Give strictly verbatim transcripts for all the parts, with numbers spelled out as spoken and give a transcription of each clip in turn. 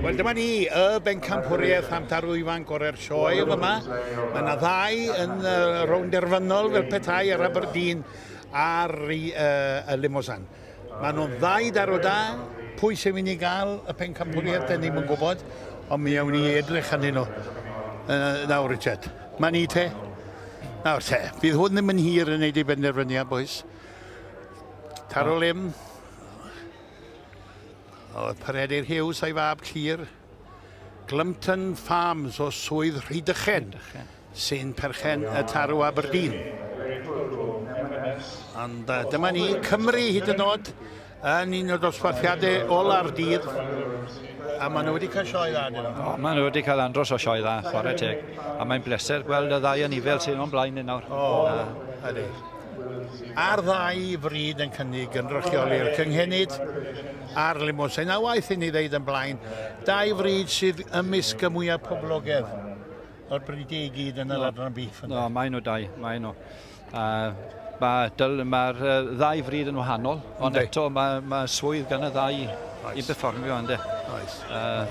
Wel, dyma ni, y bencampwriaeth am tarw ifanc o'r sioe yma. Mae yna ddau yn uh, rownd derfynol fel petai ar Aberdeen a'r uh, y Limousin. Mae nhw'n ddau darw da. Pwy sy'n mynd i gael y pencampwriaeth, dyn ni'm yn gwybod, ond mi awn ni edrych arnyn nhw. Uh, nawr, Richard. Mae ni te. Nawr te, fydd hwn ddim yn hir yn neud ei benderfyniad, boys. Tarw Lim. Oedd Peredur Hughes a'i fab Llyr. Glympton Farms o Swydd Rhydychen, sy'n perchen y tarw Aberdeen. Ond uh, dyma ni, Cymru hyd yn oed, yn un o'r dosbarthiadau ola'r dydd, a maen nhw wedi cael sioe dda, dyn nhw. O, maen nhw wedi cael andros o sioe dda, chwarae teg. A mae'n bleser gweld y ddau anifel sy'n o'n blaen ni nawr. O, ydy. A'r ddau frid yn cynnig gynrychioli'r cynghenid a'r Limousin. A waeth i ni ddeud yn blaen, dau frid sydd ymysg y mwyaf poblogaidd o'r bridiau i gyd yn yr adran beef. No, maen nhw dau, maen nhw. Uh, Mae'r ma ddau frid yn wahanol, ond eto mae, mae swydd gan y ddau oes i berfformio, ynddo. Oes. Uh,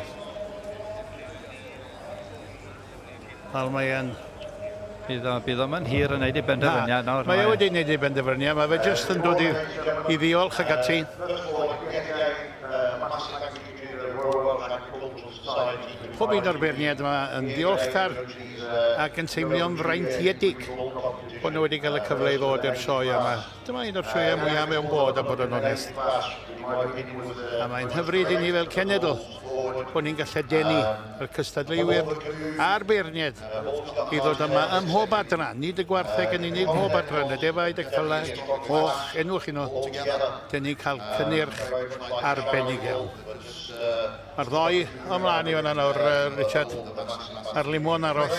Fel mae yn... Bydd o, bydd o'm yn hir yn neud ei benderfyniad nawr. Mae o wedi neud ei benderfyniad, mae fe jyst yn dod i, i ddiolch ag ati. Pob un o'r beirniaid yma yn ddiolchgar ac yn teimlo'n freintiedig bod nhw wedi cael y cyfle i ddod i'r sioe yma. Dyma un o'r sioeau mwyaf mewn bod, a bod yn onest. A mae'n hyfryd i ni fel cenedl bod ni'n gallu denu y cystadleuwyr a'r beirniaid i ddod yma ym mhob adran, nid y gwartheg yn unig, mhob adran, y defaid, y cylla, moch, enwch i nhw. Dyn ni'n cael cynnyrch arbennig iawn. Mae'r ddoi ymlaen i fan'na nawr, Richard, a'r limon aros,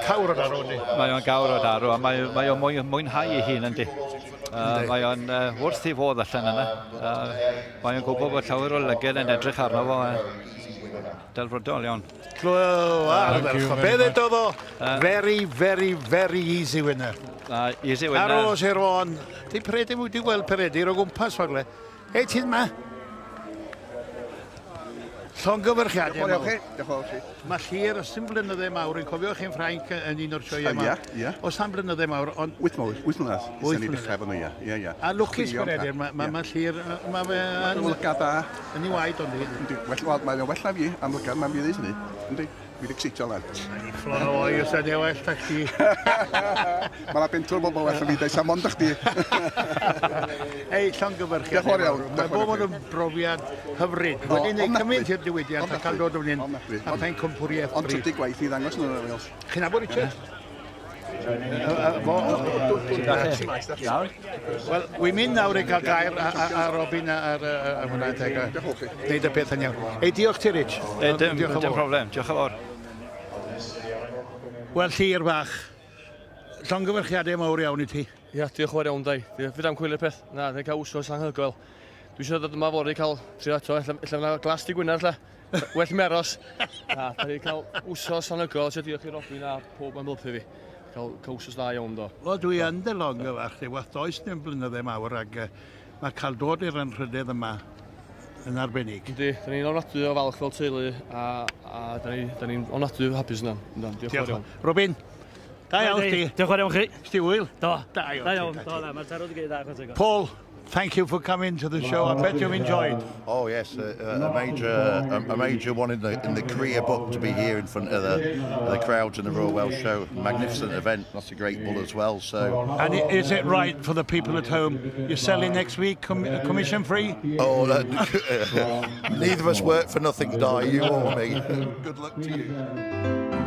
cawr o darw, yndi? Mae o'n gawr o darw, a mae, mae o'n mwy, mwynhau ei hun, yndi? Uh, mae o'n uh, wrth ei fodd allan yna. Uh, mae o'n gwybod bod llawer o lyged yn edrych arno fo. Uh, delfrydol iawn. Clw, ardderchog. Be ddedodd o? Very, very, very easy winner. Uh, easy winner. Aros i'r on. Di Peredur, wedi gweld Peredur o gwmpas fagle. Ei, ti'n ma? Llongyfarchiadau mawr. Diolch yn fawr chi. Mae Llyr, os dim blynydde mawr, yn cofio chi'n Ffrainc yn un o'r sioeau yma. Ie, ie. Os am blynydde mawr, ond... Wyth mawr, wyth mlynedd. Wyth mlynedd. Ni'n dechrau efo nhw, ie. Ie, ie. A lwcus Peredur, mae ma Llyr, mae fe yn... Lygad da. Yn ei waed, ond i. Wel, mae'n well na fi, am lygad, mae'n fi ddweud hynny. Yndi, fi wedi excitio lan. Fflon o oi, os ydy well na chdi. Mae yna bentwr bobl well na fi, dweud, mond chdi. Ei, llongyfarchiadau. Diolch yn fawr iawn. Mae bob yn brofiad hyfryd. Wedi gwneud cymaint i'r diwydiant a cael dod o fan hyn a phencampwriaeth Ond trydydd gwaith i ddangos nhw yn Wales. Chi'n nabod Richard? Wel, wy'n mynd nawr i gael gair a Robin a'r hwnna teg. Neud y peth yn iawn. Ei, diolch ti, Rich. Dim problem, diolch yn fawr. Wel, Llyr bach, llongyfarchiadau mawr iawn i ti. Ia, diolch yn fawr iawn, Dai. Fydda am coelio'r peth. Na, dwi'n cael wsos anhygoel. Dwi eisiau dod yma fory cael trio eto, ella fyna glas di Gwynar, ella. Well meros. Na, da ni cael wsos anhygoel, eisiau diolch i Robin a pob am helpu fi. Cael, cael wsos dda iawn, do. Wel, dwi yn dy longyfarch, di, wath does dim blynydde mawr, ac mae cael dod i'r anrhydedd yma yn arbennig. Yndi, da ni'n ofnadwy o falch fel teulu, a, a da ni'n ni ofnadwy hapus yna. Diolch yn fawr iawn. Robin, da iawn chdi. Diolch yn fawr iawn chi. Sti wyl? Do. Da iawn. Da iawn, do, na, mae'r tarw wedi gwneud dda. Paul, thank you for coming to the show. I bet you've enjoyed. Oh yes, a, a major, a, a major one in the in the career book to be here in front of the the crowds in the Royal Welsh Show. Magnificent event. That's a great bull as well. So. And is it right for the people at home? You're selling next week, com commission free? Oh, uh, neither of us work for nothing, Di. You or me. Good luck to you.